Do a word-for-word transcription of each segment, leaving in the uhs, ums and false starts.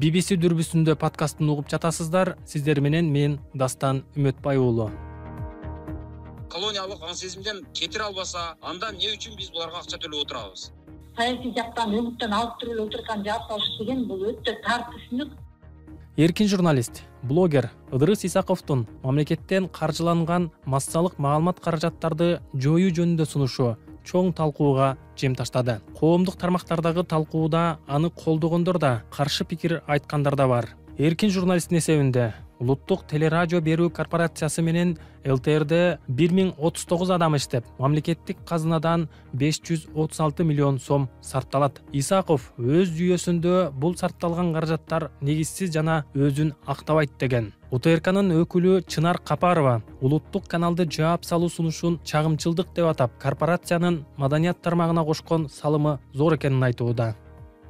би би си дүрбүсүндө подкастын угуп жатасыздар. Сиздер менен мен Дастан Үмөтбай уулу. Колониялык аң сезимден кетире албаса, анда эмне үчүн биз буларга акча төлөп отурабыз? Саясий жактан өңүттөн алып туруп отурган жаап салыш деген бул өтө тар түшүнүк. Эркин журналист, блогер Ыдырыс Исаковдун мамлекеттен каржыланган массалык маалымат каражаттарды жоюу жөнүндө сунушу чоң талкууга жем таштады. Коомдук тармактардагы талкууда аны колдогондор да, каршы пикир айткандар да бар. Эркин журналисттин эсебинде Улуттук телерадио берүү корпорациясы менен эл тэ эрде бир миң отуз тогуз адам иштеп, мамлекеттик казынадан беш жүз отуз алты миллион сом сарпталат. Исаков өз жүйөсүндө бул сарпталган каражаттар негизсиз жана өзүн актабайт деген. у тэ эр канын өкүлү Чынар Капарова улуттук каналды жаап салуу сунушун чагымчылдык деп атап, корпорациянын маданият тармагына кошкон салымы зор экенин айтууда.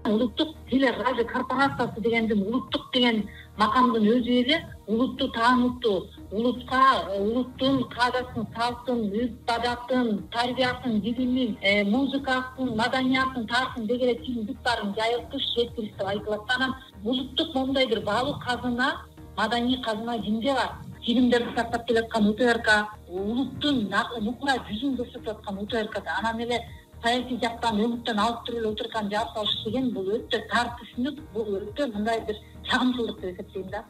Улуттук телерадио корпорациясы дегендин улуттук деген макамдын өзү эле улутту таанутту, улутка улуттун каадасын, салттын, үт-адатын, тарбиясын, дилинин, музыкасын, маданиятын, тарыхын деги эле чындыктарын жайылтыш, жеткириш деп айтылат. Анан улуттук моундай бир баалуу казына, маданий казына кимде бар? Фильмдерди сактап келаткан у тэ эр ка, улуттун нукура жүзүн көрсөтүп аткан у тэ эр ка, анан эле саясий жактан өңүттөн алып туруп отурган жаап салыш деген бул өтө тар түшүнүк, бул өтө мындай бир чагымчылдык деп эсептейм да.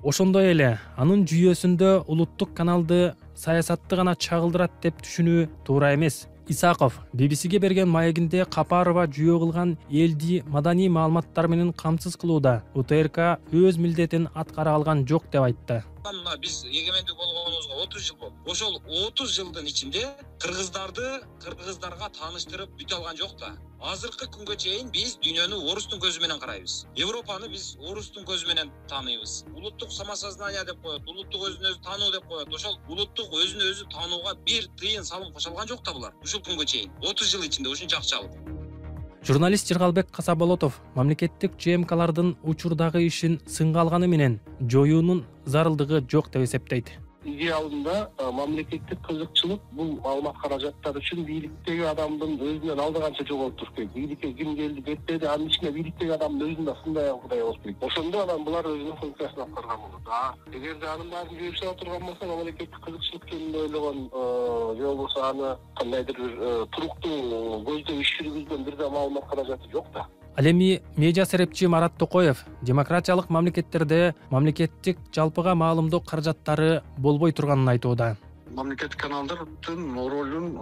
Ошондой эле анын жүйөсүндө улуттук каналды саясатты гана чагылдырат деп түшүнүү туура эмес. Исаков би би сиге берген маегинде Капарова жүйө кылган элди маданий маалыматтар менен камсыз кылууда у тэ эр ка өз милдетин аткара алган жок деп айтты. Мына биз эгемендик болгонубузга отуз жыл болду. Ошол отуз жылдын ичинде кыргыздарды кыргыздарга тааныштырып бүтө алган жок да. Азыркы күнгө чейин биз дүйнөнү орустун көзү менен карайбыз. Европаны биз орустун көзү менен тааныйбыз. Улуттук самосознание деп коет, улуттук өзүн өзү таануу деп коет. Ошол улуттук өзүн өзү таанууга бир тыйын салым кошо алган жок да булар. Ушул күнгө чейин отуз жыл ичинде ушунча акча алып. Журналист Жыргалбек Касаболотов мамлекеттик же эм калардын учурдагы ишин сынга алганы менен жоюунун зарылдыгы жок деп эсептейт. Идеалында мамлекеттик кызыкчылык бул маалымат каражаттары үчүн бийликтеги адамдын өзүнөн алдыганча жоголуп туруш керек. Бийликке ким келди кетпеди, анын ичинде бийликтеги адамдын өзүн да сындай кудай болуш керек. Ошондо анан булар өзүнүн функциясын аткарган болот. А эгерде анын баарын жүйөсү отурган болсо, мамлекеттик кызыкчылык жөнүндө ойлогон же болбосо аны кандайдыр бир туруктуу көздөп иш жүргүзгөн бир да маалымат каражаты жок да. Ал эми медиа серепчи Марат Токоев демократиялык мамлекеттерде мамлекеттик жалпыга маалымдоо каражаттары болбой турганын айтууда. Мамлекеттик каналдардын ролун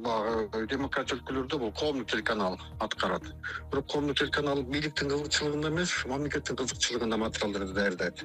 баягы демократия өлкөлөрдө бул коомдук телеканал аткарат. Бирок коомдук телеканал бийликтин кызыкчылыгында эмес, мамлекеттин кызыкчылыгында материалдарды даярдайт.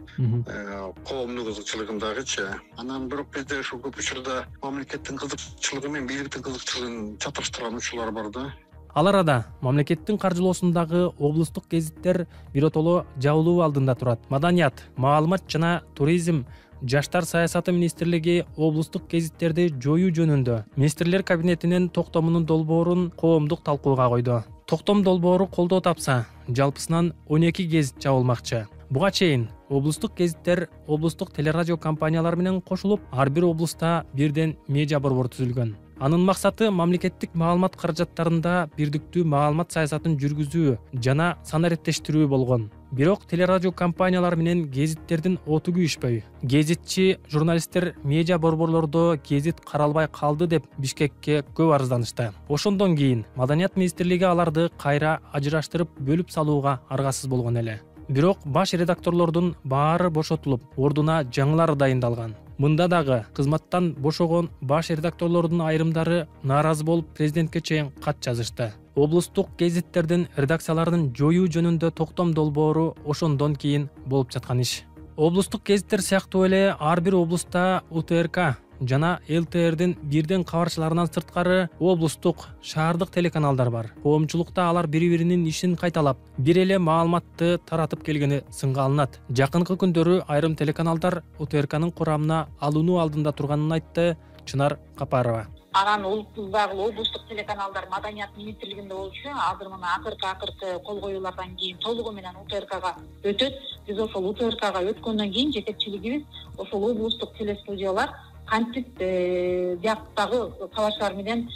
Коомдук кызыкчылыгындагычы. Анан бирок бизде ушул көп учурда мамлекеттин кызыкчылыгы менен бийликтин кызыкчылыгын чаташтырган учурлар бар да. Ал арада мамлекеттин каржылоосундагы облустук гезиттер биротоло жабылуу алдында турат. Маданият, маалымат жана туризм, жаштар саясаты министрлиги облустук гезиттерди жоюу жөнүндө министрлер кабинетинин токтомунун долбоорун коомдук талкууга койду. Токтом долбоору колдоо тапса, жалпысынан он эки гезит жабылмакчы. Буга чейин облустук гезиттер облустук телерадио компаниялар менен кошулуп, ар бир облуста бирден медиа борбор түзүлгөн. Анын максаты мамлекеттик маалымат каражаттарында бирдиктүү маалымат саясатын жүргүзүү жана санариптештирүү болгон. Бирок телерадио компаниялар менен гезиттердин оту күйүшпөй. Гезитчи журналисттер медиа борборлордо гезит каралбай калды деп Бишкекке көп арызданышты. Ошондон кийин Маданият министрлиги аларды кайра ажыраштырып бөлүп салууга аргасыз болгон эле. Бирок баш редакторлордун баары бошотулуп, ордуна жаңылары дайындалган. Мында дагы кызматтан бошогон баш редакторлордун айрымдары нааразы болуп президентке чейин кат жазышты. Облустук гезиттердин редакцияларын жоюу жөнүндө токтом долбоору ошондон кийин болуп жаткан иш. Облустук гезиттер сыяктуу эле ар бир облуста у тэ эр ка жана эл тэ эрдин бирден кабарчыларынан сырткары облустук, шаардык телеканалдар бар. Коомчулукта алар бири-биринин ишин кайталап, бир эле маалыматты таратып келгени сынга алынат. Жакынкы күндөрү айрым телеканалдар у тэ эр канын курамына алынуу алдында турганын айтты Чынар Капарова. Анан улуттуздагы облустук телеканалдар Маданият министрлигинде болчу. Азыр мына акыркы акыркы кол коюулардан кийин толугу менен у тэ эр кага өтөт. Биз ошол у тэ эр кага өткөндөн кийин жетекчилигибиз ошол облустук телестудиялар кантип жактагы кабарчылар менен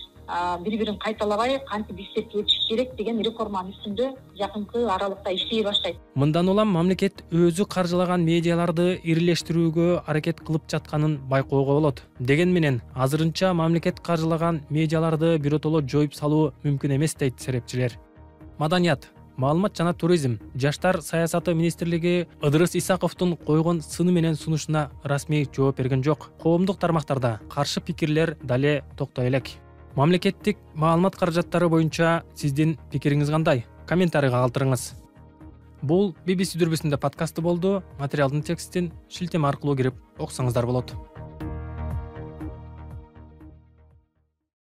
бири бирин кайталабай кантип иштетип өтүш керек деген реформанын үстүндө жакынкы аралыкта иштей баштайт. Мындан улам мамлекет өзү каржылаган медиаларды ирилештирүүгө аракет кылып жатканын байкоого болот. Деген менен азырынча мамлекет каржылаган медиаларды биротоло жоюп салуу мүмкүн эмес дейт серепчилер. Маданият, маалымат жана туризм, жаштар саясаты министрлиги Ыдырыс Исаковдун койгон сыны менен сунушуна расмий жооп берген жок. Коомдук тармактарда каршы пикирлер дале токтой элек. Мамлекеттик маалымат каражаттары боюнча сиздин пикириңиз кандай? Комментарийга калтырыңыз. Бул би би си дүрбүсүндө подкасты болду. Материалдын текстин шилтеме аркылуу кирип окусаңыздар болот.